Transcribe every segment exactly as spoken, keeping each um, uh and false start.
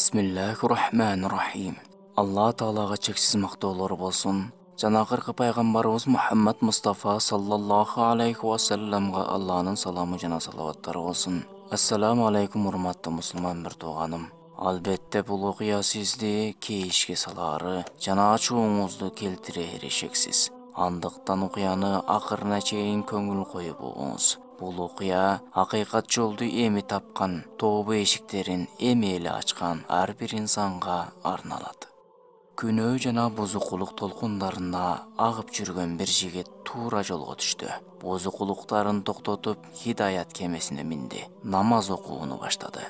Бисмиллахир-рахманир-рахим. Алла Таалага чексиз мактоолор болсун. Жана акыркы пайгамбарыбыз Мухаммад Мустафа саллаллаху алейхи ва салламга Алланын саламы жана салаваттары болсун. Ассаламу алейкум урматтуу мусулман бир тууганым. Албетте бул окуя сизди кейишке салаары жана ачууңузду келтирери шексиз. Андыктан окуяны акырына чейин көңүл коюп угуңуз. Бул окуя акыйкат жолду эми тапкан, тобо эшиктерин эми эле ачкан ар бир инсанга арналат. Күнөө жана бузукулук толкундарына агып жүргөн бир жигит туура жолго түштү. Бузукулуктарын токтотуп, хидаят кемесине минди. Намаз окууну баштады.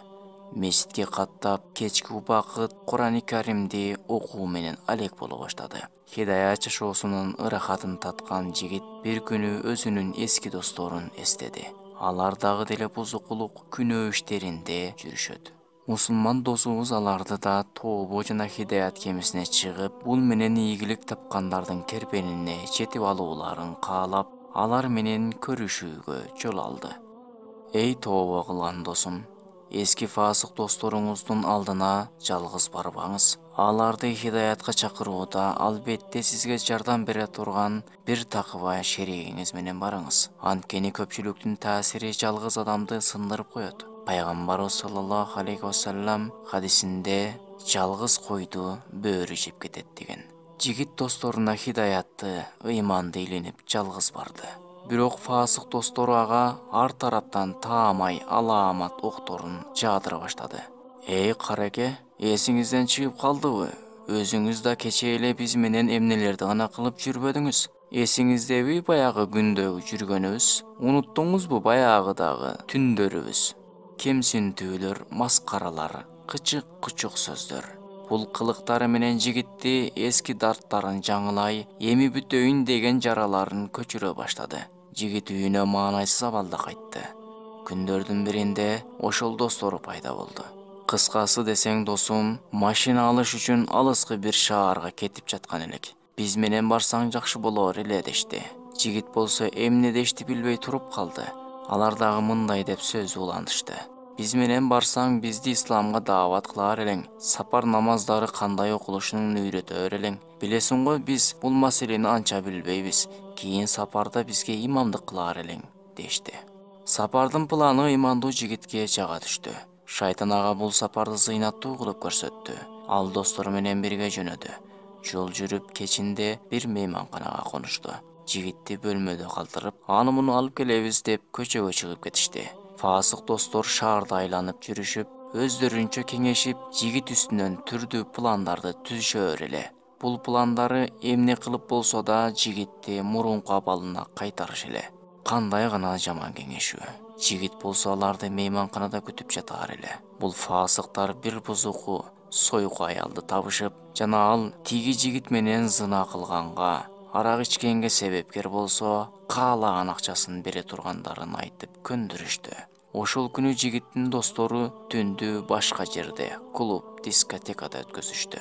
Мечитке каттап, кечки убакыт Кур'ан-ы Каримди окуу менен алек боло баштады. Хидаят жашоосунун ырахатын таткан жигит бир күнү өзүнүн эски досторун эстеди. Алар дагы деле бузукулук күнөө иштеринде жүрүшөт. Мусулман досубуз аларды да тобо жана хидаят кемесине чыгып, бул менен ийгилик тапкандардын керпенине жетип алууларын каалап, алар менен көрүшүүгө жол алды. Эй тобо кылган досум, эски фасык досторуңуздун алдына жалгыз барбаңыз. Аларды хидаятка чакырууда албетте сизге жардам бере турган бир такыба шеригиңиз менен барыңыз. Анткени көпчүлүктүн таасири жалгыз адамды сындырып коет. Пайгамбарыбыз саллаллаху алейхи ва саллам хадисинде жалгыз койду бөөрү жеп кетет деген. Жигит досторуна хидаятты, ыйманды илинип жалгыз барды. Бирок фасык достору ага ар тараптан таамай алаамат окторун жаадыра баштады. Эй караке, эсиңизден чыгып калдыбы? Өзүңүз да кечээ эле биз менен эмнелерди гана кылып жүрбөдүңүз? Эсиңиздеби баягы күндөгү жүргөнүбүз? Унуттуңузбу баягыдагы түндөрүбүз? Кемсинтүүлөр, маскаралар, кычык-кучук сөздөр. Бул кылыктары менен жигитти эски дарттарын жаңылай, эми бүтөйүн деген жараларын көчүрө баштады. Жигит үйүнө маанайсыз абалда кайтты. Күндөрдүн биринде ошол достору пайда болду. Кыскасы десең досум, машина алыш үчүн алыскы бир шаарга кетип жаткан элек. Биз менен барсаң жакшы болор эле дешти. Жигит болсо эмне дешти билбей туруп калды. Алар дагы мындай деп сөз улантышты. Биз менен барсаң бизди исламга даават кылаар элең. Сапар намаздары кандай окулушун үйрөтөр элең. Билесиң го, биз бул маселени анча билбейбиз. Кийин сапарда бизге имамдык кылаар элең, дешти. Сапардын планы ыймандуу жигитке жага түштү. Шайтан ага бул сапарды зыйнаттуу кылып көрсөттү. Ал достору менен бирге жөнөдү. Жол жүрүп кечинде бир мейманканага конушту. Жигитти бөлмөдө калтырып, аны муну алып келебиз деп көчөгө чыгып кетишти. Фасык достор шаарды айланып жүрүшүп, өздөрүнчө кеңешип, жигит үстүнөн түрдүү пландарды түзүшөр эле. Бул пландары эмне кылып болсо да жигитти мурунку абалына кайтарыш эле. Кандай гана жаман кеңешүү. Жигит болсо аларды мейманканада күтүп жатаар эле. Бул фасыктар бир бузуку, сойку аялды табышып, жана ал тиги жигит менен зына кылганга, арак ичкенге себепкер болсо, каалаган акчасын бере тургандарын айтып көндүрүштү. Ошол күнү жигиттин достору түндү башка жерде, клуб, дискотекада өткөзүштү.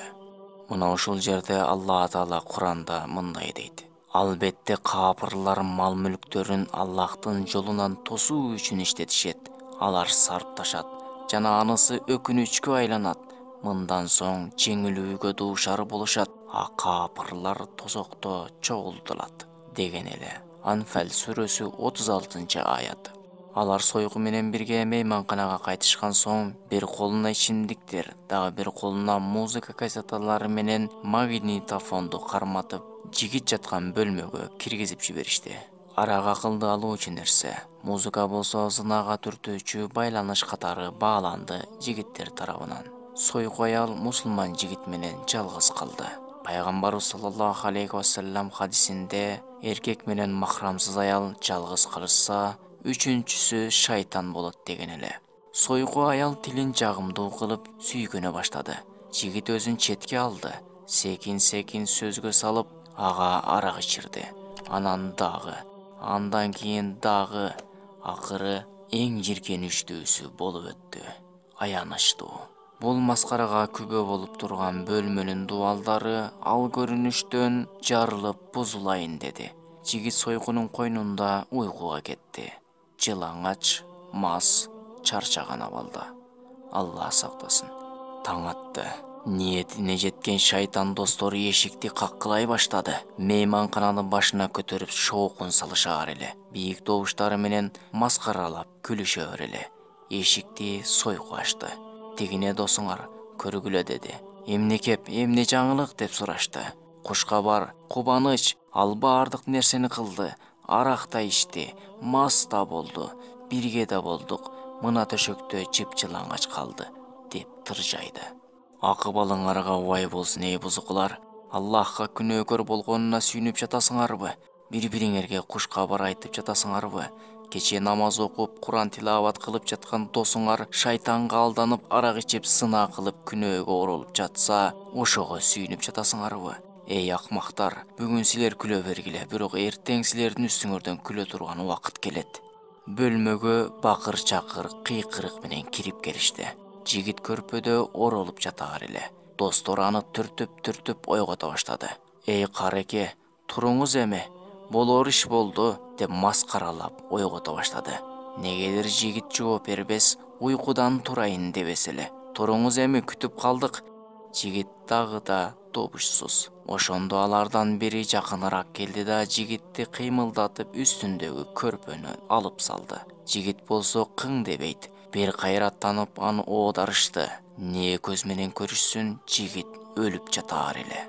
Мына ушул жерде Алла Таала Кур'анда мындай дейт: албетте капырлар мал-мүлктөрүн Аллахтын жолунан тосуу үчүн иштетишет. Алар сарпташат жана анысы өкүнүчкө айланат. Мындан соң жеңилүүгө дуушар болушат, а капырлар тозокто чогултулат, деген эле. Анфал сүрөсү отуз алтынчы аят. Алар сойку менен бирге мейманканага кайтышкан соң, бир колуна ичимдиктер, дагы бир колуна музыка кассеталары менен магнитофонду карматып, жигит жаткан бөлмөгө киргизип жиберишти. Арак акылды алуучу нерсе. Музыка болсо зынага түртүүчү байланыш катары бааланды жигиттер тарабынан. Сойку аял мусулман жигит менен жалгыз калды. Пайгамбарыбыз саллаллаху алейхи ва саллам хадисинде эркек менен махрамсыз аял жалгыз калышса, үчүнчүсү шайтан болот деген эле. Сойку аял тилин жагымдуу кылып сүйгөнө баштады. Жигит өзүн четке алды. Секин-секин сөзгө салып, ага арак ичирди. Анан дагы, андан кийин дагы, акыры эң жийиркеничтүүсү болуп өттү. Аянычтуу. Бул маскарага күбө болуп турган бөлмөнүн дубалдары ал көрүнүштөн жарылып бузулайын деди. Жигит сойкунун койнунда уйкуга кетти. Жылаңач, мас, чарчаган абалда. Алла сактасын. таң атты. Ниетине жеткен шайтан достору эшикти каккылай баштады. Мейманкананы башына көтөрүп шоокун салышаар эле. Бийик добуштары менен маскаралап күлүшөр эле. Эшикти сойку ачты. Тигине досуңар көргүлө деди. Эмне кеп, эмне жаңылык деп сурашты. Кушкабар, кубаныч, ал баардык нерсени кылды. Арак да ичти, мас да болду. Бирге да болдук. Мына төшөктө жыпжылаңач калды деп тыржайды. Акыбалыңарга убай болсун эй бузукулар. Аллахка күнөөкөр болгонуна сүйүнүп жатасыңарбы? Бири-бириңерге кушкабар айтып жатасыңарбы? Кече намаз окуп, Куран тилават кылып жаткан досуңар шайтанга алданып, арак ичип, сынаа кылып, күнөөгө оролуп жатса, ошого сүйүнүп жатасыңарбы? Эй акмактар, бүгүн силер күлө бергиле, бирок эртең силердин үстүңөрдөн күлө турган убакыт келет. Бөлмөгө бакыр-чакыр, кыйкырык менен кирип келишти. Жигит көрпөдө оролуп жатаар эле. Достор аны түртүп-түртүп ойгото баштады. Эй кареке, туруңуз эми, болор иш болду деп маскаралап ойгото баштады. Негедир жигит жооп бербес, уйкудан турайын дебес эле. Туруңуз эми, күтүп калдык. Жигит дагы да добушсуз. Ошондо алардан бири жакыныраак келди да жигитти кыймылдатып үстүндөгү көрпөнү алып салды. Жигит болсо кың дебейт. Бир кайраттанып аны оодарышты. Не көз менен көрүшсүн, жигит өлүп жатаар эле.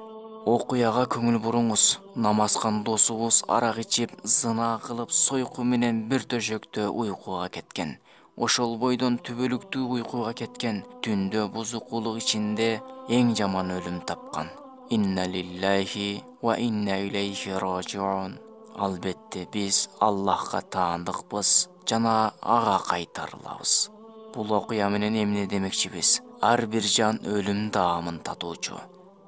Окуяга көңүл буруңуз. Намазкан досубуз арак ичип, зына кылып, сойку менен бир төшөктө уйкуга кеткен. Ошол бойдон түбөлүктүү уйкуга кеткен. Түндө бузукулук ичинде эң жаман өлүм тапкан. Инна лиллахи ва инна илейхи ражиун. Албетте биз Аллахка таандыкпыз жана ага кайтарылабыз. Бул окуя менен эмне демекчибиз? Ар бир жан өлүм даамын татуучу.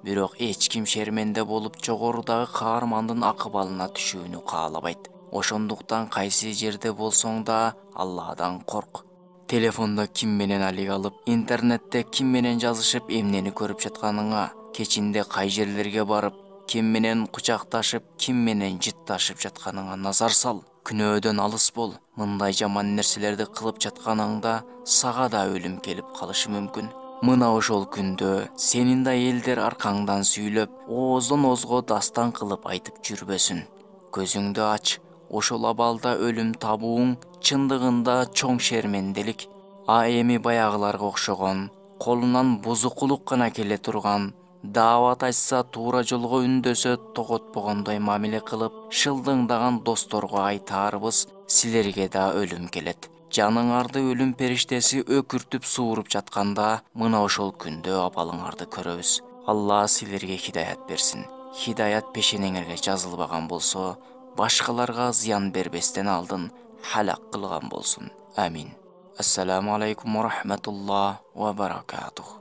Бирок эч ким шерменде болуп жогорудагы каармандын акыбалына түшүүнү каалабайт. Ошондуктан кайсы жерде болсоң да Алладан корк. Телефондо ким менен алик алып, интернетте ким менен жазышып, эмнени көрүп жатканыңа, кечинде кай жерлерге барып, ким менен кучакташып, ким менен жытташып жатканыңа назар сал. Күнөөдөн алыс бол. Мындай жаман нерселерди кылып жатканыңда сага да өлүм келип калышы мүмкүн. Мына ошол күндө сенин да элдер аркаңдан сүйлөп, ооздон оозго дастан кылып айтып жүрбөсүн. Көзүңдү ач. Ошол абалда өлүм табууң чындыгында чоң шерменделик. А эми баягыларга окшогон, колунан бузукулук гана келе турган, даават айтса туура жолго үндөсө тоготпогондой мамиле кылып, шылдыңдаган досторго айтаарыбыз, силерге да өлүм келет. Жаныңарды өлүм периштеси өкүртүп сууруп жатканда, мына ошол күндө абалыңарды көрөбүз. Алла силерге хидаят берсин. Хидаят пешенеңерге жазылбаган болсо, башкаларга зыян бербестен алдын халак кылган болсун. Амин. Ассаламу алейкум ва рахматуллах ва баракатух.